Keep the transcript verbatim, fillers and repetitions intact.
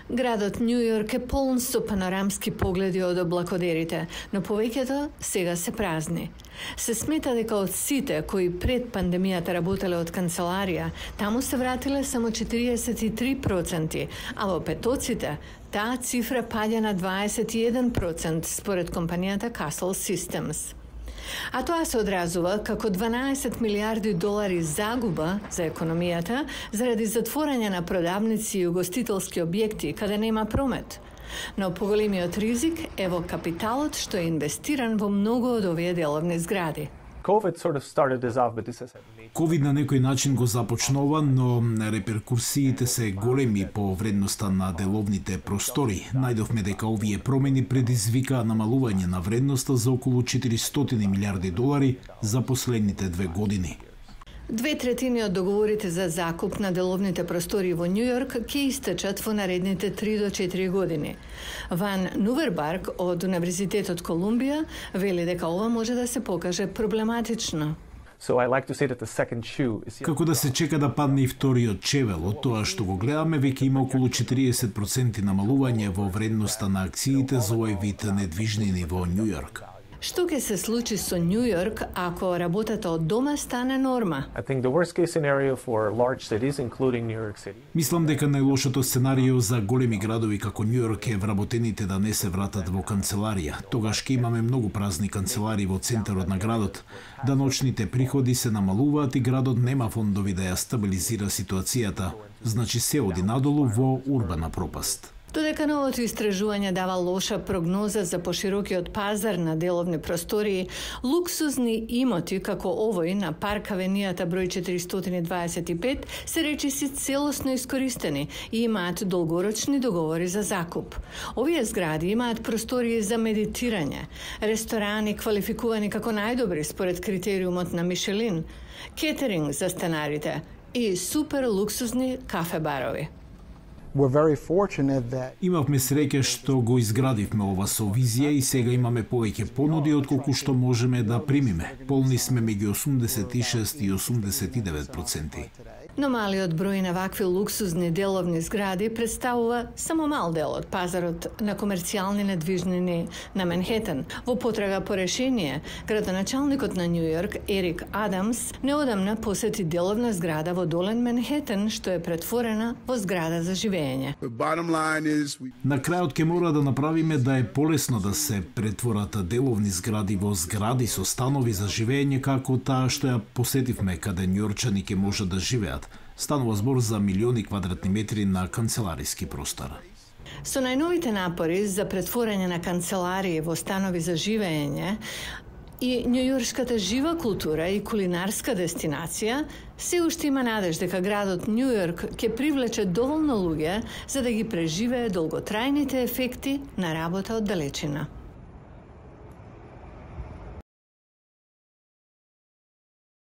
Градот Њу Јорк е полн со панорамски погледи од облакодерите, но повеќето сега се празни. Се смета дека од сите кои пред пандемијата работеле од канцеларија, таму се вратиле само четириесет и три проценти, а во петоците таа цифра паѓа на дваесет и еден процент според компанијата Castle Systems. А тоа се одразува како дванаесет милиарди долари загуба за економијата заради затворање на продавници и угостителски објекти каде нема промет. Но поголемиот ризик е во капиталот што е инвестиран во многу од овие деловни згради. Ковид на некој начин го започнува, но реперкурсиите се големи по вредноста на деловните простори. Најдовме дека овие промени предизвикаа намалување на вредноста за околу четиристотини милиарди долари за последните две години. Две третини од договорите за закуп на деловните простори во Њу Јорк ќе истечат во наредните три до четири години. Ван Нувербарг од Универзитетот Колумбија вели дека ова може да се покаже проблематично. So I like to say that the second shoe is... Како да се чека да падне и вториот чевел, од тоа што го гледаме, веќе има околу четириесет проценти намалување во вредноста на акциите за овој вид недвижнини во Њу Јорк. Што ќе се случи со Њу Јорк ако работата од дома стане норма? I think the worst case scenario for large cities, including New York City. Мислам дека најлошото сценарио за големи градови како Њу Јорк е вработените да не се вратат во канцеларија. Тогаш ќе имаме многу празни канцеларии во центарот на градот. Даночните приходи се намалуваат и градот нема фондови да ја стабилизира ситуацијата. Значи се оди надолу во урбана пропаст. Додека новото истражување дава лоша прогноза за поширокиот пазар на деловни простории, луксузни имоти како овој на парк авенијата број четиристотини дваесет и пет се речиси целосно искористени и имаат долгорочни договори за закуп. Овие згради имаат простории за медитирање, ресторани квалификувани како најдобри според критериумот на Мишелин, кетеринг за станарите и супер луксузни кафе-барови. Имавме среќа што го изградивме ова со визија и сега имаме повеќе понуди отколку што можеме да примиме. Полни сме меѓу осумдесет и шест и осумдесет и девет проценти. Но малиот број на вакви луксузни деловни згради представува само мал дел од пазарот на комерцијални недвижнини на Манхетен. Во потрага по решение, градоначалникот на Њу Јорк, Ерик Адамс, неодамна посети деловна зграда во Долен Манхетен, што е претворена во зграда за живење. На крајот ќе мора да направиме да е полесно да се претворат деловни згради во згради со станови за живење како таа што ја посетивме, каде њујорчани ќе можат да живеат. Станува збор за милиони квадратни метри на канцелариски простор. Со најновите напори за претворање на канцеларии во станови за живење и њујоршката жива култура и кулинарска дестинација, се уште има надеж дека градот Њу Јорк ќе привлече доволно луѓе за да ги преживее долготрајните ефекти на работа од далечина.